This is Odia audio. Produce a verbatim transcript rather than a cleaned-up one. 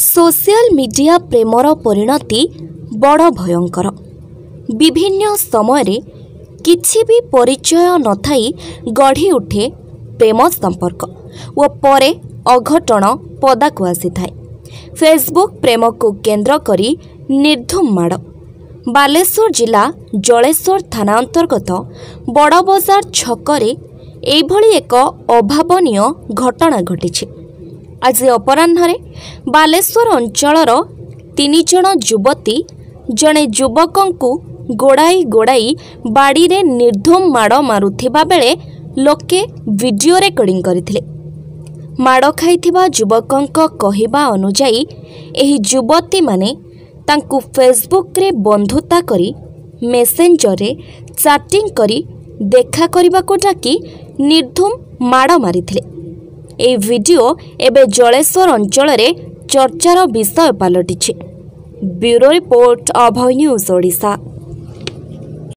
ସୋସିଆଲ ମିଡିଆ ପ୍ରେମର ପରିଣତି ବଡ଼ ଭୟଙ୍କର। ବିଭିନ୍ନ ସମୟରେ କିଛି ବି ପରିଚୟ ନଥାଇ ଗଢ଼ି ଉଠେ ପ୍ରେମ ସମ୍ପର୍କ ଓ ପରେ ଅଘଟଣ ପଦାକୁ ଆସିଥାଏ। ଫେସବୁକ୍ ପ୍ରେମକୁ କେନ୍ଦ୍ର କରି ନିର୍ଦ୍ଧୁମ ମାଡ଼। ବାଲେଶ୍ୱର ଜିଲ୍ଲା ଜଳେଶ୍ୱର ଥାନା ଅନ୍ତର୍ଗତ ବଡ଼ବଜାର ଛକରେ ଏଇଭଳି ଏକ ଅଭାବନୀୟ ଘଟଣା ଘଟିଛି। ଆଜି ଅପରାହ୍ନରେ ବାଲେଶ୍ୱର ଅଞ୍ଚଳର ତିନି ଜଣ ଯୁବତୀ ଜଣେ ଯୁବକଙ୍କୁ ଗୋଡ଼ାଇ ଗୋଡ଼ାଇ ବାଡ଼ିରେ ନିର୍ଦ୍ଧୁମ ମାଡ଼ ମାରୁଥିବା ବେଳେ ଲୋକେ ଭିଡିଓ ରେକର୍ଡିଂ କରିଥିଲେ। ମାଡ଼ ଖାଇଥିବା ଯୁବକଙ୍କ କହିବା ଅନୁଯାୟୀ, ଏହି ଯୁବତୀମାନେ ତାଙ୍କୁ ଫେସବୁକ୍ରେ ବନ୍ଧୁତା କରି ମେସେଞ୍ଜରରେ ଚାଟିଂ କରି ଦେଖା କରିବାକୁ ଡାକି ନିର୍ଦ୍ଧୁମ ମାଡ଼ ମାରିଥିଲେ। ଏହି ଭିଡିଓ ଏବେ ଜଳେଶ୍ୱର ଅଞ୍ଚଳରେ ଚର୍ଚ୍ଚାର ବିଷୟ ପାଲଟିଛି। Bureau report, Abhay news Odisha.